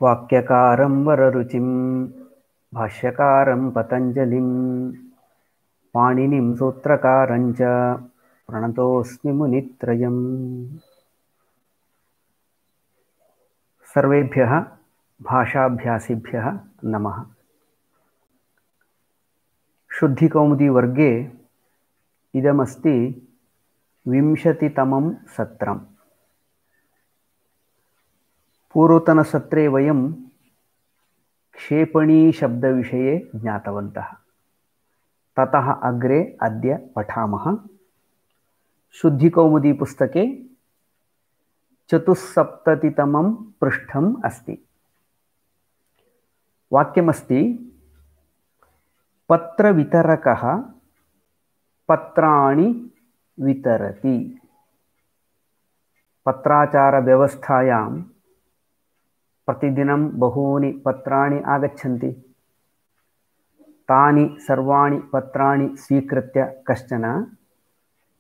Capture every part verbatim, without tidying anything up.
वाक्यकारं वररुचिं भाष्यकारं पतञ्जलिं पाणिनिं सूत्रकारं च प्रणतोऽस्मि मुनित्रयम्। सर्वेभ्यः भाषाभ्यासिभ्यः नमः। शुद्धिकौमुदी वर्गे इदमस्ति विंशतितमं सत्रम्। पूर्वतनसत्रे वयं क्षेपणी शब्दविषये ज्ञातवन्तः। ततः अग्रे अद्य पठामः। शुद्धिकौमुदी पुस्तके चतुस्सप्ततितमं पृष्ठम् अस्ति। वाक्यमस्ति पत्रवितरकः पत्राणि वितरति। पत्राचारव्यवस्थायां प्रतिदिनं बहूनि पत्राणि आगच्छन्ति। तानि सर्वाणि पत्राणि स्वीकृत्य कश्चन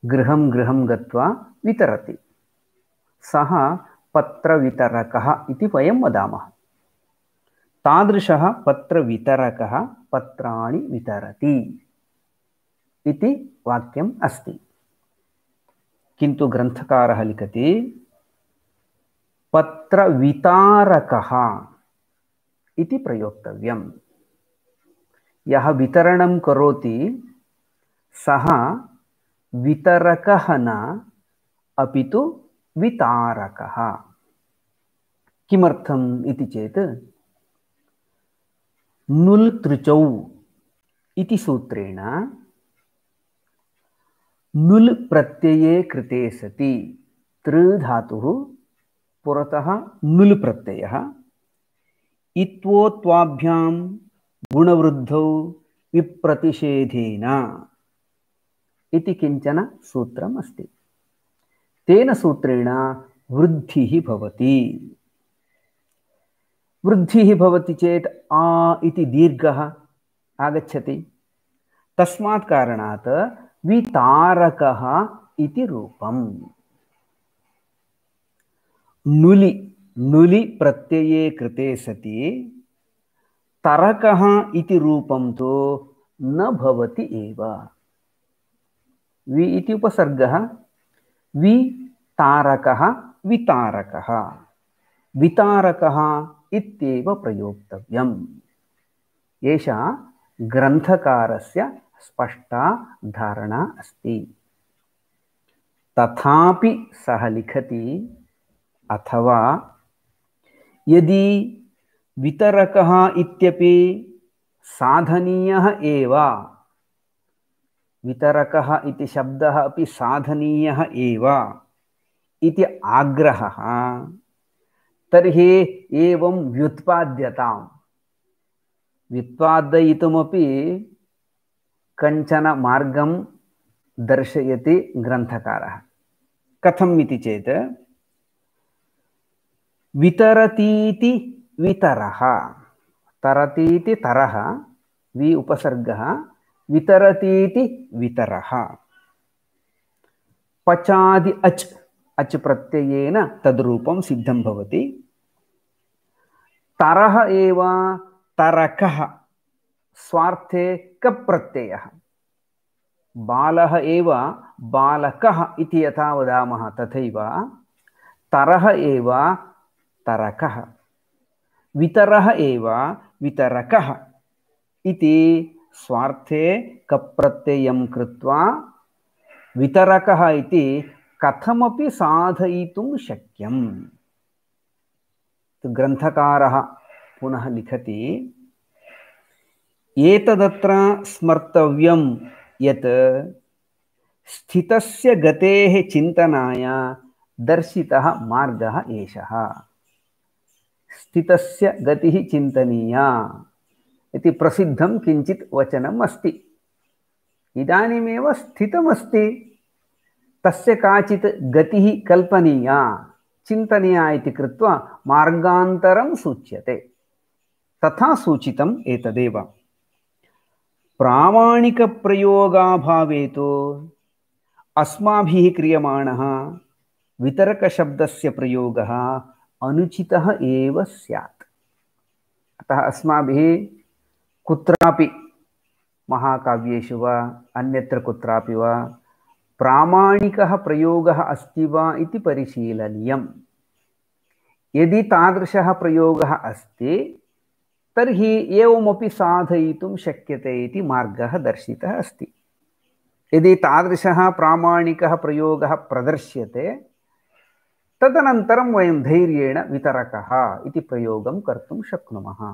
गृहं गृहं गत्वा वितरति। सः पत्रवितरकः इति वयं वदामः। तादृशः पत्रवितरकः पत्राणि वितरति इति वाक्यम् अस्ति। किन्तु ग्रन्थकारः लिखति पत्रवितारकः इति प्रयोक्तव्यम्। यः वितरणं करोति सः वितरकः न अपि तु वितारकः। किमर्थम् इति चेत् नुल् तृचौ इति सूत्रेण नुल् प्रत्यये कृते सति तृ धातुः पुरतः नुल् प्रत्ययः इत्वोत्वाभ्यां गुणवृद्धौ विप्रतिषेधेन इति किञ्चन सूत्रम् अस्ति। तेन सूत्रेण वृद्धिः भवति। वृद्धिः भवति चेत् आ इति दीर्घः आगच्छति। तस्मात् कारणात् वितारकः इति रूपम्। नुलि नुलि प्रत्यये कृते सति तरकः इति रूपं तु न भवति एव। वि इति उपसर्गः वितारकः वितारकः वितारकः इत्येव प्रयोक्तव्यम्। एषा ग्रन्थकारस्य स्पष्टा धारणा अस्ति। तथापि सः लिखति अथवा यदि वितरकः इत्यपि साधनीयः एव, वितरकः इति शब्दः अपि साधनीयः एव इति आग्रहः, तर्हि एवं व्युत्पाद्यताम्। व्युत्पादयितुमपि कञ्चन मार्गं दर्शयति ग्रन्थकारः। कथम् इति चेत् वितरतीति वितरः, तरतीति तरः, वि उपसर्गः, वितरतीति वितरः। पचादि अच् अच् प्रत्ययेन तद्रूपं सिद्धं भवति। तरः एव तरकः, स्वार्थे कप् प्रत्ययः। बालः एव बालकः इति यथा वदामः तथैव तरः एव तरकः, वितरः एव वितरकः इति स्वार्थे कप् प्रत्ययं कृत्वा वितरकः इति कथमपि साधयितुं शक्यम्। ग्रन्थकारः पुनः लिखति एतदत्र स्मर्तव्यं यत् स्थितस्य गतेः चिन्तनाय दर्शितः मार्गः एषः। स्थितस्य गतिः चिन्तनीया इति प्रसिद्धं किञ्चित् वचनम् अस्ति। इदानीमेव स्थितमस्ति, तस्य काचित् गतिः कल्पनीया, चिन्तनीया इति कृत्वा मार्गान्तरं सूच्यते। तथा सूचितम् एतदेव। प्रामाणिकप्रयोगाभावे तु अस्माभिः क्रियमाणः वितरकशब्दस्य प्रयोगः अनुचितः एव स्यात्। अतः अस्माभिः कुत्रापि महाकाव्येषु वा अन्यत्र कुत्रापि वा प्रामाणिकः प्रयोगः अस्ति वा इति परिशीलनीयम्। यदि तादृशः प्रयोगः अस्ति तर्हि एवमपि साधयितुं शक्यते इति मार्गः दर्शितः अस्ति। यदि तादृशः प्रामाणिकः प्रयोगः प्रदर्श्यते तदनन्तरं वयं धैर्येण वितरकः इति प्रयोगं कर्तुं शक्नुमः।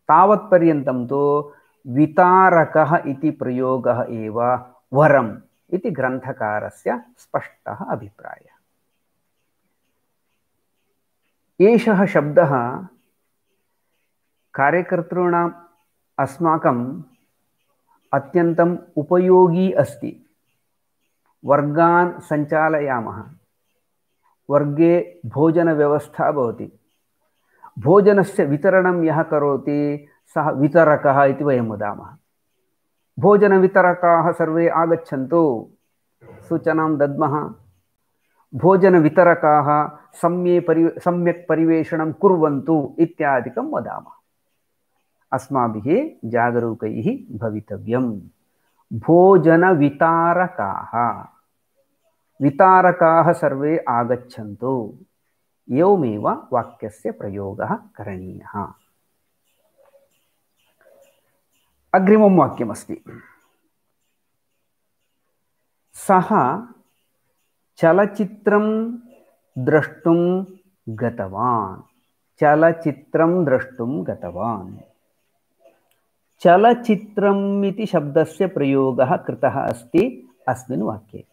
तावत्पर्यन्तं तु वितारकः इति प्रयोगः एव वरम् इति ग्रन्थकारस्य स्पष्टः अभिप्रायः। एषः शब्दः कार्यकर्तॄणाम् अस्माकम् अत्यन्तम् उपयोगी अस्ति। वर्गान् सञ्चालयामः, वर्गे भोजनव्यवस्था भवति, भोजनस्य वितरणं यः करोति सः वितरकः इति वयं वदामः। भोजनवितरकाः सर्वे आगच्छन्तु सूचनां दद्मः, भोजनवितरकाः सम्यक् परि सम्यक् परिवेषणं कुर्वन्तु इत्यादिकं वदामः। अस्माभिः जागरूकैः भवितव्यम्। भोजनवितारकाः वितारकाः सर्वे आगच्छन्तु, एवमेव वाक्यस्य प्रयोगः करणीयः। अग्रिमं वाक्यमस्ति, सः चलचित्रं द्रष्टुं गतवान्। चलचित्रं द्रष्टुं गतवान्। चलचित्रम् इति शब्दस्य प्रयोगः कृतः अस्ति अस्मिन् वाक्ये।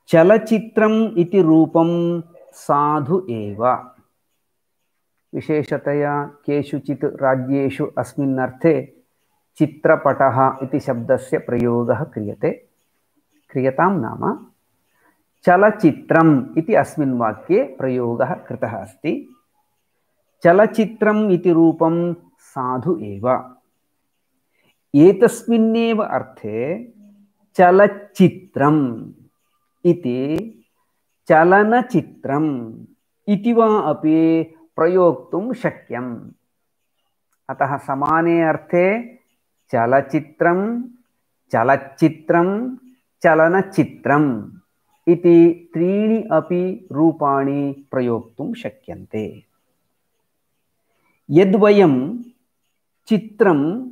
चलचित्रम् इति रूपं साधु एव। विशेषतया केषुचित् राज्येषु अस्मिन् अर्थे चित्रपटः इति शब्दस्य प्रयोगः क्रियते। क्रियतां नाम चलचित्रम् इति अस्मिन् वाक्ये प्रयोगः कृतः अस्ति। चलचित्रम् इति रूपं साधु एव। एतस्मिन्नेव अर्थे चलचित्रम् इति चलनचित्रम् इति वा अपि प्रयोक्तुं शक्यम्। अतः समाने अर्थे चलचित्रं, चलचित्रं, चलनचित्रम् इति त्रीणि अपि रूपाणि प्रयोक्तुं शक्यन्ते। यद्वयं चित्रं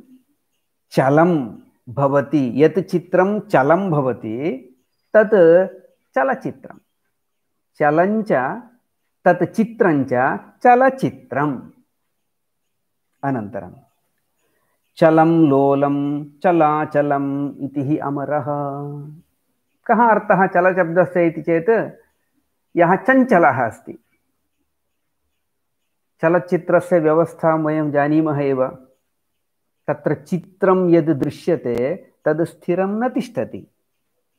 चलं भवति, यत् चित्रं चलं भवति तत् चलचित्रं, चलञ्च तत् चित्रञ्च चलचित्रम्। अनन्तरं चलं लोलं चलाचलम् इति हि अमरः। कः अर्थः चलशब्दस्य इति चेत् यः चञ्चलः अस्ति। चलचित्रस्य व्यवस्थां वयं जानीमः एव। तत्र चित्रं यद् दृश्यते तद् स्थिरं न तिष्ठति,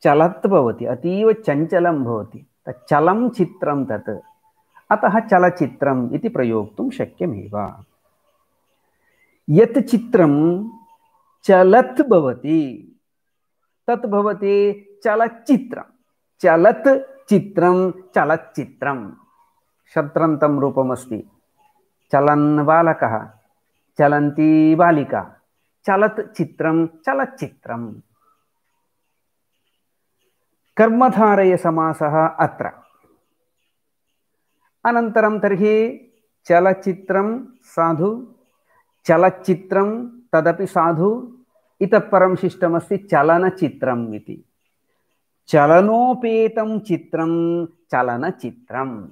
चलत् भवति, अतीव चञ्चलं भवति। चलं चित्रं तत्, अतः चलचित्रम् इति प्रयोक्तुं शक्यमेव। यत् चित्रं चलत् भवति तत् भवति चलचित्रं। चलत् चित्रं चलचित्रं शब्दान्तं रूपमस्ति। चलन् बालकः, चलन्ती बालिका, चलत् चित्रं चलचित्रम्। कर्मधारय समासः अत्र। अनन्तरं तर्हि चलचित्रं साधु, चलचित्रं तदपि साधु, इतः परं शिष्टमस्ति चलनचित्रम् इति। चलनोपेतं चित्रं चलनचित्रं,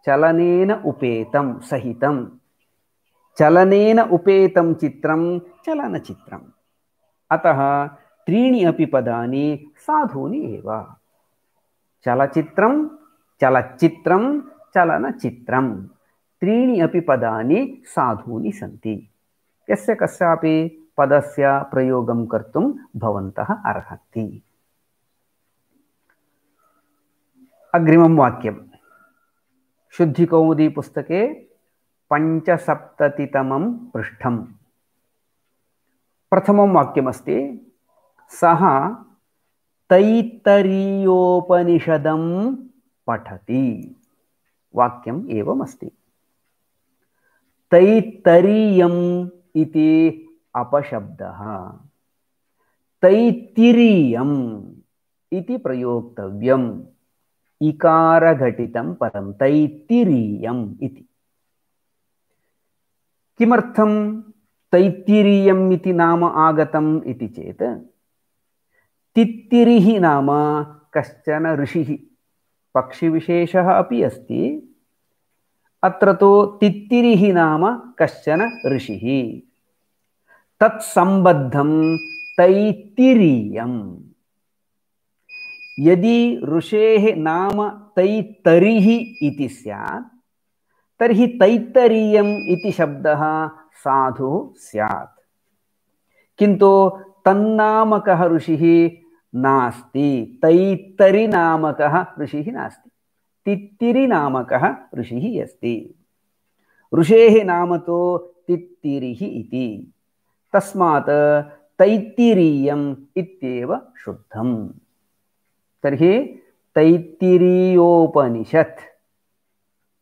चलनेन उपेतं सहितं, चलनेन उपेतं चित्रं चलनचित्रम्। अतः त्रीणि अपि पदानि साधूनि एव। चलचित्रं, चलचित्रं, चलनचित्रं, त्रीणि अपि पदानि साधूनि सन्ति। यस्य कस्यापि पदस्य प्रयोगं कर्तुं भवन्तः अर्हन्ति। अग्रिमं वाक्यं शुद्धिकौमुदी पुस्तके पञ्चसप्ततितमं पृष्ठं प्रथमं वाक्यमस्ति, सः तैत्तरीयोपनिषदं पठति। वाक्यम् एवमस्ति, तैत्तरीयम् इति अपशब्दः, तैत्तिरीयम् इति प्रयोक्तव्यम्। इकारघटितं पदं तैत्तिरीयम् इति। किमर्थं तैत्तिरीयम् इति नाम आगतम् इति चेत्, तित्तिरिः नाम कश्चन ऋषिः, पक्षिविशेषः अपि अस्ति। अत्र तु तित्तिरिः नाम कश्चन ऋषिः, तत्सम्बद्धं तैत्तिरीयम्। यदि ऋषेः नाम तैत्तरिः इति स्यात् तर्हि तैत्तरीयम् इति शब्दः साधुः स्यात्, किन्तु तन्नामकः ऋषिः नास्ति, तैत्तरिनामकः ऋषिः नास्ति, तित्तिरिनामकः ऋषिः अस्ति। ऋषेः नाम तु तित्तिरिः इति, तस्मात् तैत्तिरीयम् इत्येव शुद्धम्। तर्हि तैत्तिरीयोपनिषत्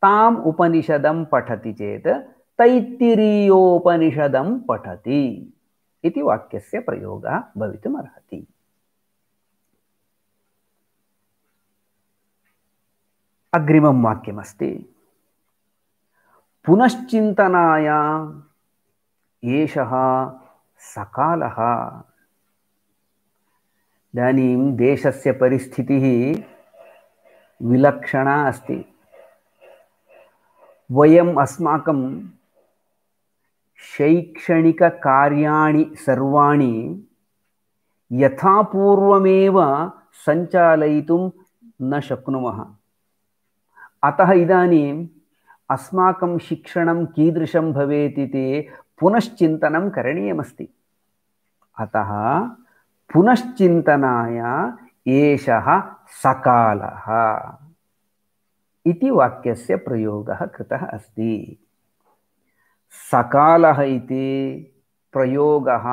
ताम् उपनिषदं पठति चेत् तैत्तिरीयोपनिषदं पठति इति वाक्यस्य प्रयोगः भवितुमर्हति। अग्रिमं वाक्यमस्ति, पुनश्चिन्तनाय एषः सकालः। इदानीं देशस्य परिस्थितिः विलक्षणा अस्ति। वयम् अस्माकं शैक्षणिककार्याणि सर्वाणि यथा पूर्वमेव सञ्चालयितुं न शक्नुमः। अतः इदानीम् अस्माकं शिक्षणं कीदृशं भवेत् इति पुनश्चिन्तनं करणीयमस्ति। अतः पुनश्चिन्तनाय एषः सकालः इति वाक्यस्य प्रयोगः कृतः अस्ति। सकालः इति प्रयोगः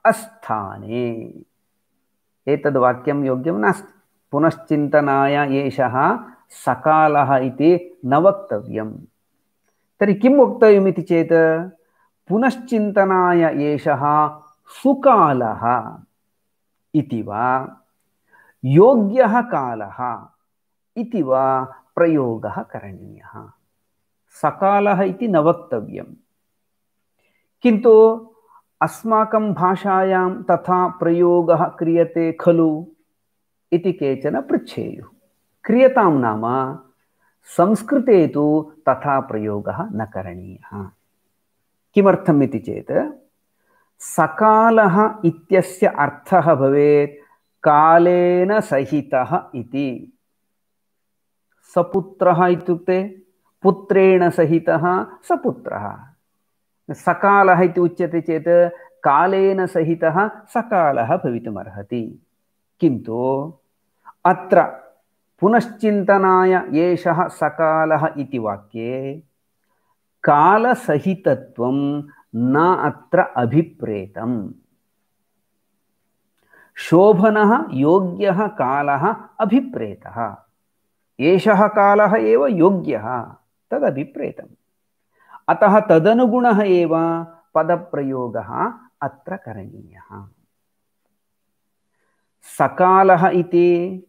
अस्थाने, एतद् वाक्यं योग्यं नास्ति। पुनश्चिन्तनाय एषः सकालः इति न वक्तव्यम्। तर्हि किं वक्तव्यम् इति चेत्, पुनश्चिन्तनाय एषः सुकालः इति वा योग्यः कालः इति वा प्रयोगः करणीयः। सकालः इति न वक्तव्यम्, किन्तु अस्माकं भाषायां तथा प्रयोगः क्रियते खलु इति केचन पृच्छेयुः। क्रियतां नाम संस्कृते तु तथा प्रयोगः न करणीयः। किमर्थम् इति चेत्, सकालः इत्यस्य अर्थः भवेत् कालेन सहितः इति। सपुत्रः इत्युक्ते पुत्रेण सहितः सपुत्रः। सकालः इति उच्यते चेत् कालेन सहितः सकालः भवितुमर्हति। किन्तु अत्र पुनश्चिन्तनाय एषः सकालः इति वाक्ये कालसहितत्वं न अत्र अभिप्रेतम्। शोभनः योग्यः कालः अभिप्रेतः, एषः कालः एव योग्यः तदभिप्रेतम्। अतः तदनुगुणः एव पदप्रयोगः अत्र करणीयः। सकालः इति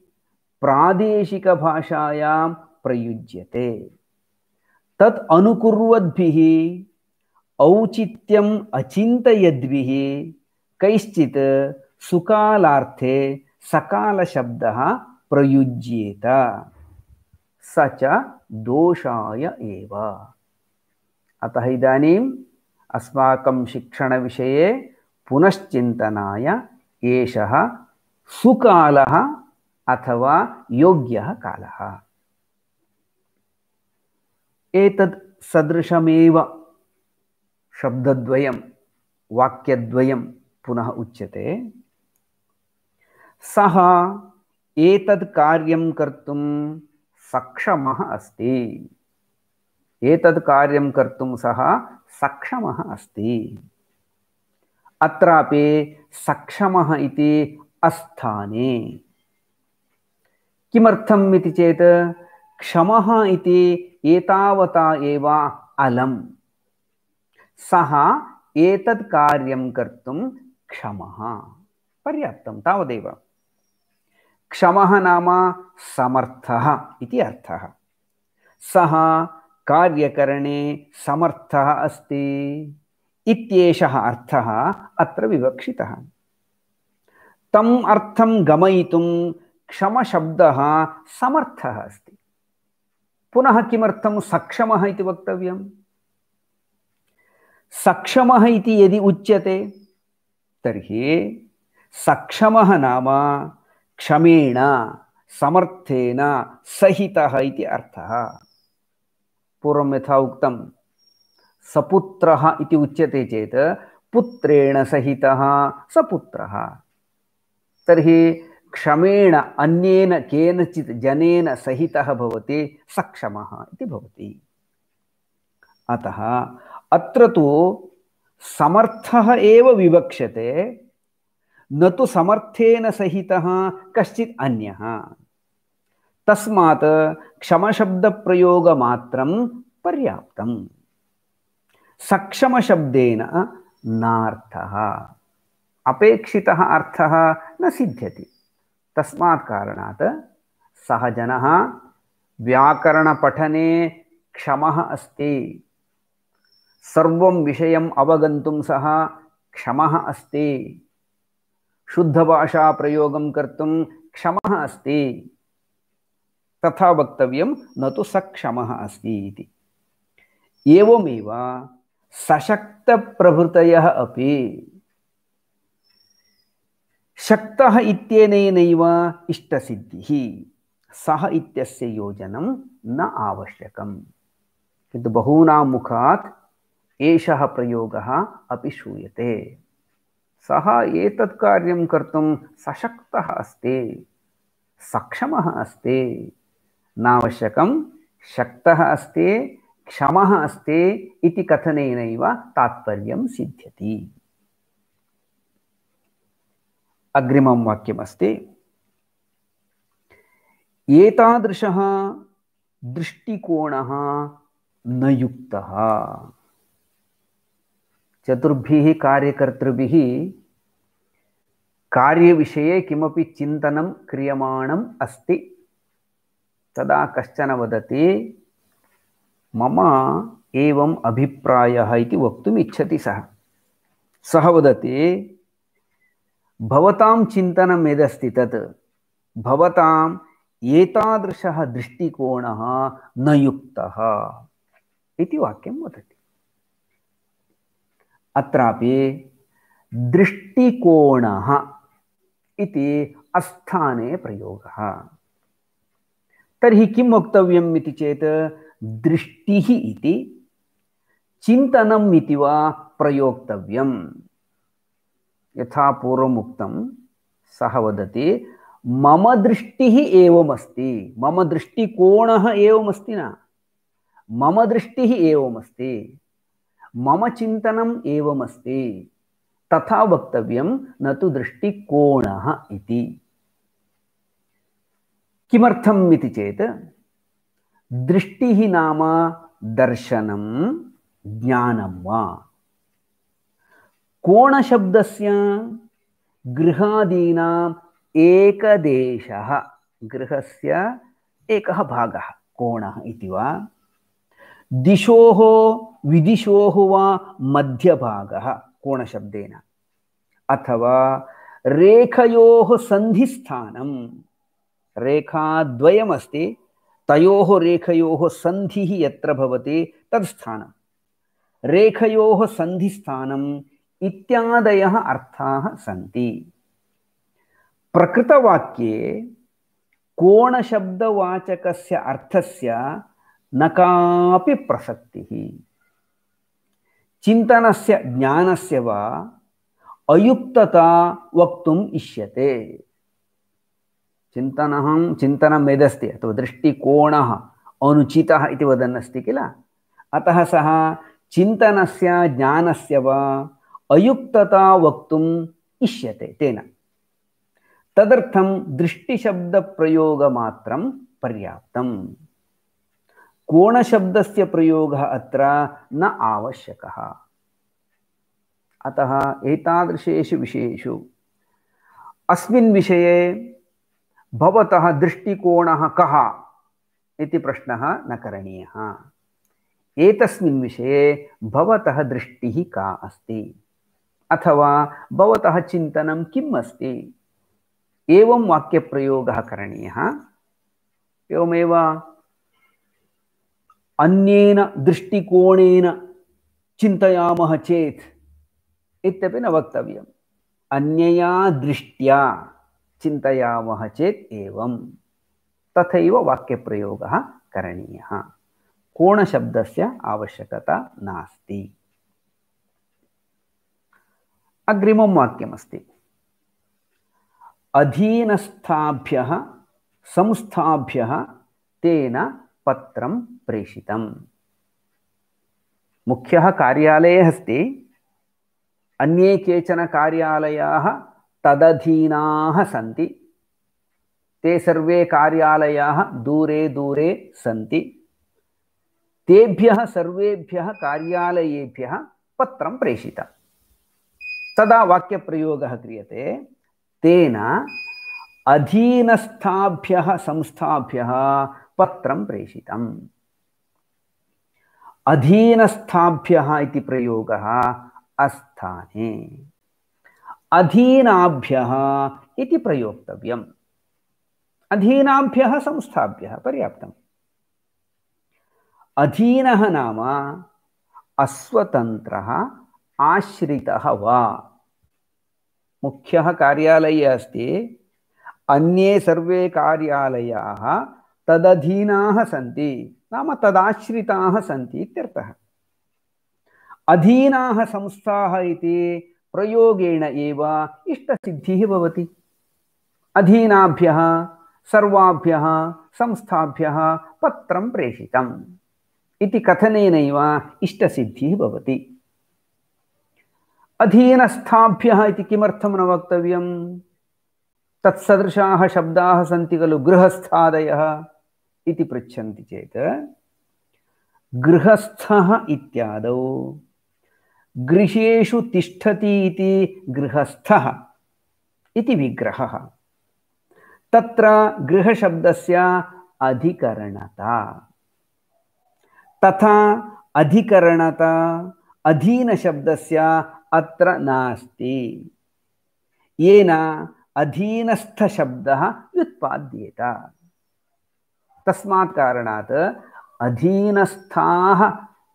प्रादेशिकभाषायां प्रयुज्यते। तत् अनुकुर्वद्भिः औचित्यम् अचिन्तयद्भिः कैश्चित् सुकालार्थे सकालशब्दः प्रयुज्येत, स च दोषाय एव। अतः इदानीम् अस्माकं शिक्षणविषये पुनश्चिन्तनाय एषः सुकालः अथवा योग्यः कालः। एतद् सदृशमेव शब्दद्वयं वाक्यद्वयं पुनः उच्यते। सः एतद् कार्यं कर्तुं सक्षमः अस्ति। एतद् कार्यं कर्तुं सः सक्षमः अस्ति। अत्रापि सक्षमः इति अस्थाने। किमर्थम् इति चेत्, क्षमः इति एतावता एव अलम्। सः एतत् कार्यं कर्तुं क्षमः। पर्याप्तं, तावदेव। क्षमः नाम समर्थः इति अर्थः। सः कार्यकरणे समर्थः अस्ति इत्येषः अर्थः अत्र विवक्षितः। तम् अर्थं गमयितुं क्षमशब्दः समर्थः अस्ति। पुनः किमर्थं सक्षमः इति वक्तव्यम्? सक्षमः इति यदि उच्यते तर्हि सक्षमः नाम क्षमेण समर्थेन सहितः इति अर्थः। पूर्वं यथा उक्तं सपुत्रः इति उच्यते चेत् पुत्रेण सहितः सपुत्रः। तर्हि क्षमेण अन्येन केनचित् जनेन सहितः भवति सक्षमः इति भवति। अतः अत्र तु समर्थः एव विवक्ष्यते, न तु समर्थेन सहितः कश्चित् अन्यः। तस्मात् क्षमशब्दप्रयोगमात्रं पर्याप्तम्। सक्षमशब्देन नार्थः, अपेक्षितः अर्थः न सिद्ध्यति। तस्मात् कारणात् सः जनः व्याकरणपठने क्षमः अस्ति, सर्वं विषयम् अवगन्तुं सः क्षमः अस्ति, शुद्धभाषाप्रयोगं कर्तुं क्षमः अस्ति, तथा वक्तव्यं, न तु सक्षमः अस्ति इति। एवमेव सशक्तप्रभृतयः अपि शक्तः इत्यनेनैव इष्टसिद्धिः, सः इत्यस्य योजनं न आवश्यकम्। किन्तु बहूनां मुखात् एषः प्रयोगः अपि श्रूयते। सः एतत् कार्यं कर्तुं सशक्तः अस्ति, सक्षमः अस्ति, नावश्यकं शक्तः अस्ति क्षमः अस्ति इति कथनेनैव तात्पर्यं सिद्ध्यति। अग्रिमं वाक्यमस्ति, एतादृशः दृष्टिकोणः न युक्तः। चतुर्भिः कार्यकर्तृभिः कार्यविषये किमपि चिन्तनं क्रियमाणम् अस्ति। तदा कश्चन वदति मम एवम् अभिप्रायः इति वक्तुम् इच्छति सः। सः वदति भवतां चिन्तनं यदस्ति तत् भवताम् एतादृशः दृष्टिकोणः न युक्तः इति वाक्यं वदति। अत्रापि दृष्टिकोणः इति अस्थाने प्रयोगः। तर्हि किं वक्तव्यम् इति चेत् दृष्टिः इति चिन्तनम् इति वा प्रयोक्तव्यम्। यथा पूर्वम् उक्तं, सः वदति मम दृष्टिः एवमस्ति, मम दृष्टिकोणः एवमस्ति न, मम दृष्टिः एवमस्ति, मम चिन्तनम् एवमस्ति, तथा वक्तव्यं, न तु दृष्टिकोणः इति। किमर्थम् इति चेत् दृष्टिः नाम दर्शनं ज्ञानं वा। कोणशब्दस्य गृहादीनाम् एकदेशः, गृहस्य एकः भागः कोणः इति वा, दिशोः विदिशोः वा मध्यभागः कोणशब्देन, अथवा रेखयोः सन्धिस्थानं, रेखाद्वयमस्ति, तयोः रेखयोः सन्धिः यत्र भवति तत् स्थानं, रेखयोः सन्धिस्थानम् इत्यादयः अर्थाः सन्ति। प्रकृतवाक्ये कोणशब्दवाचकस्य अर्थस्य न कापि प्रसक्तिः। चिन्तनस्य ज्ञानस्य वा अयुक्तता वक्तुम् इष्यते। चिन्तनं चिन्तनं यदस्ति अथवा दृष्टिकोणः अनुचितः इति वदन्नस्ति किल, अतः सः चिन्तनस्य ज्ञानस्य वा अयुक्तता वक्तुम् इष्यते तेन। तदर्थं दृष्टिशब्दप्रयोगमात्रं पर्याप्तम्। कोणशब्दस्य प्रयोगः अत्र न आवश्यकः। अतः एतादृशेषु विषयेषु अस्मिन् विषये भवतः दृष्टिकोणः कः इति प्रश्नः न करणीयः। एतस्मिन् विषये भवतः दृष्टिः का अस्ति अथवा भवतः चिन्तनं किम् अस्ति, एवं वाक्यप्रयोगः करणीयः। एवमेव अन्येन दृष्टिकोणेन चिन्तयामः चेत् इत्यपि न वक्तव्यम्। अन्यया दृष्ट्या चिन्तयामः चेत् एवं, तथैव वाक्यप्रयोगः करणीयः। कोणशब्दस्य आवश्यकता नास्ति। अग्रिमं वाक्यमस्ति, अधीनस्थाभ्यः संस्थाभ्यः तेन पत्रं प्रेषितम्। मुख्यः कार्यालयः अस्ति, अन्ये केचन कार्यालयाः तदधीनाः सन्ति। ते सर्वे कार्यालयाः दूरे दूरे सन्ति। तेभ्यः सर्वेभ्यः कार्यालयेभ्यः पत्रं प्रेषितं। तदा वाक्यप्रयोगः क्रियते, तेन अधीनस्थाभ्यः संस्थाभ्यः पत्रं प्रेषितम्। अधीनस्थाभ्यः इति प्रयोगः अस्थाने, अधीनाभ्यः इति प्रयोक्तव्यम्। अधीनाभ्यः संस्थाभ्यः पर्याप्तम्। अधीनः नाम अस्वतन्त्रः आश्रितः वा। मुख्यः कार्यालयः अस्ति, अन्ये सर्वे कार्यालयाः तदधीनाः सन्ति, नाम तदाश्रिताः सन्ति इत्यर्थः। अधीनाः संस्थाः इति प्रयोगेण एव इष्टसिद्धिः भवति। अधीनाभ्यः सर्वाभ्यः संस्थाभ्यः पत्रं प्रेषितम् इति कथनेनैव इष्टसिद्धिः भवति। अधीनस्थाभ्यः इति किमर्थं न वक्तव्यं? तत्सदृशाः शब्दाः सन्ति खलु, गृहस्थादयः इति पृच्छन्ति चेत्, गृहस्थः इत्यादौ गृहेषु तिष्ठति इति गृहस्थः इति विग्रहः। तत्र गृहशब्दस्य अधिकरणता, तथा अधिकरणता अधीनशब्दस्य अत्र नास्ति, येन अधीनस्थशब्दः व्युत्पाद्येत। तस्मात् कारणात् अधीनस्थाः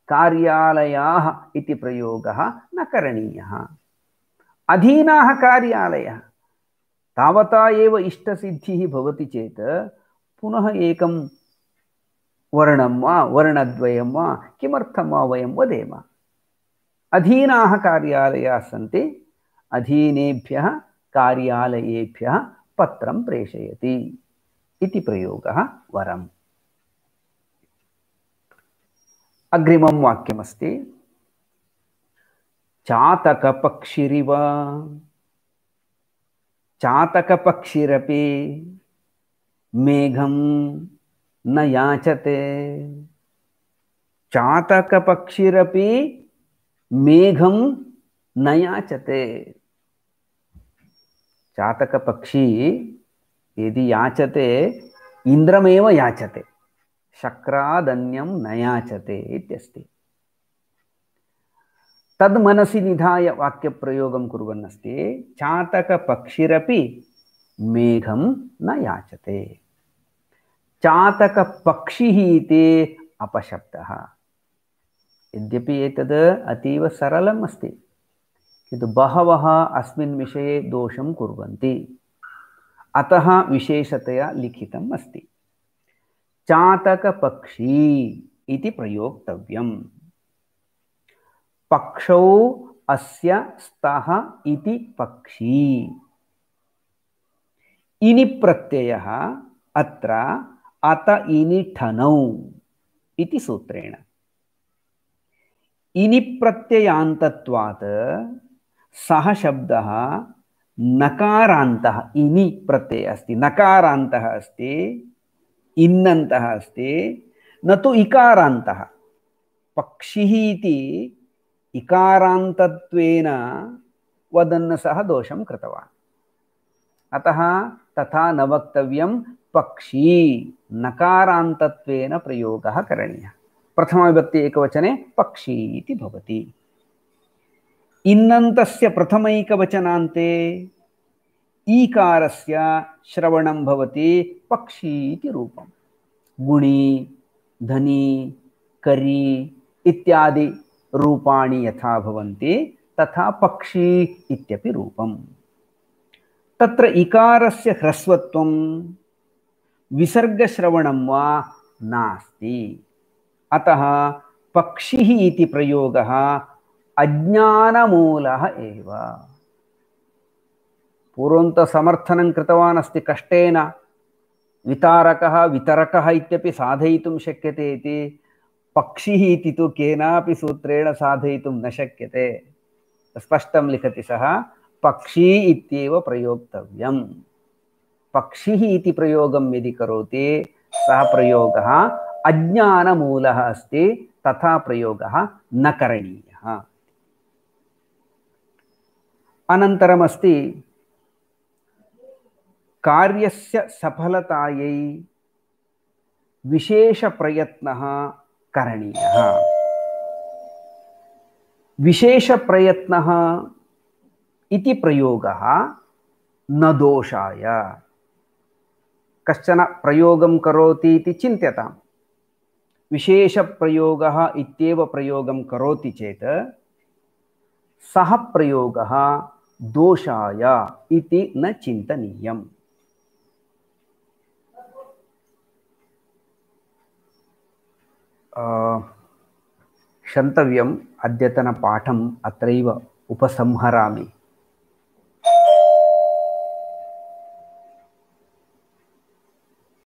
कार्यालयाः इति प्रयोगः न करणीयः। अधीनाः कार्यालयः तावता एव इष्टसिद्धिः भवति चेत् पुनः एकं वर्णं वा वर्णद्वयं वा किमर्थं वा वयं वदेम। अधीनाः कार्यालयाः सन्ति, अधीनेभ्यः कार्यालयेभ्यः पत्रं प्रेषयति इति प्रयोगः वरम्। अग्रिमं वाक्यमस्ति, चातकपक्षिरिव। चातकपक्षिरपि मेघं न याचते। चातकपक्षिरपि मेघं न याचते। चातकपक्षी यदि याचते इन्द्रमेव याचते, शक्रादन्यं न याचते इत्यस्ति। तद् मनसि निधाय वाक्यप्रयोगं कुर्वन् अस्ति, चातकपक्षिरपि मेघं न याचते। चातकपक्षिः इति अपशब्दः। यद्यपि एतद् अतीव सरलम् अस्ति, किन्तु बहवः अस्मिन् विषये दोषं कुर्वन्ति, अतः विशेषतया लिखितम् अस्ति। चातकपक्षी इति प्रयोक्तव्यम्। पक्षौ अस्य स्तः इति पक्षी। इनि प्रत्ययः अत्र अत इनि ठनौ इति सूत्रेण। इनि प्रत्ययान्तत्वात् सः शब्दः नकारान्तः। इनि प्रत्ययः अस्ति, नकारान्तः अस्ति, इन्नन्तः अस्ति, न तु इकारान्तः। पक्षिः इति इकारान्तत्वेन वदन् सः दोषं कृतवान्। अतः तथा न वक्तव्यं, पक्षी नकारान्तत्वेन प्रयोगः करणीयः। प्रथमाविभक्ति एकवचने पक्षी इति भवति। इन्नन्तस्य प्रथमैकवचनान्ते ईकारस्य श्रवणं भवति पक्षी इति रूपम्। गुणी, धनी, करी इत्यादि रूपाणि यथा भवन्ति तथा पक्षी इत्यपि रूपम्। तत्र इकारस्य ह्रस्वत्वं विसर्गश्रवणं वा नास्ति। अतः पक्षिः इति प्रयोगः अज्ञानमूलः एव। पूर्वं समर्थनं कृतवान् अस्ति कष्टेन, वितारकः वितरकः इत्यपि साधयितुं शक्यते इति। पक्षिः इति तु केनापि सूत्रेण साधयितुं न शक्यते। स्पष्टं लिखति सः, पक्षी इत्येव प्रयोक्तव्यम्। पक्षिः इति प्रयोगं यदि करोति सः प्रयोगः अज्ञानमूलः अस्ति, तथा प्रयोगः न करणीयः। अनन्तरमस्ति कार्यस्य सफलतायै विशेषप्रयत्नः करणीयः। विशेषप्रयत्नः इति प्रयोगः न दोषाय। कश्चन प्रयोगं करोति इति चिन्त्यताम्, विशेषप्रयोगः इत्येव प्रयोगं करोति चेत् सः प्रयोगः दोषाय इति न चिन्तनीयम्। क्षन्तव्यम्, अद्यतनपाठम् अत्रैव उपसंहरामि।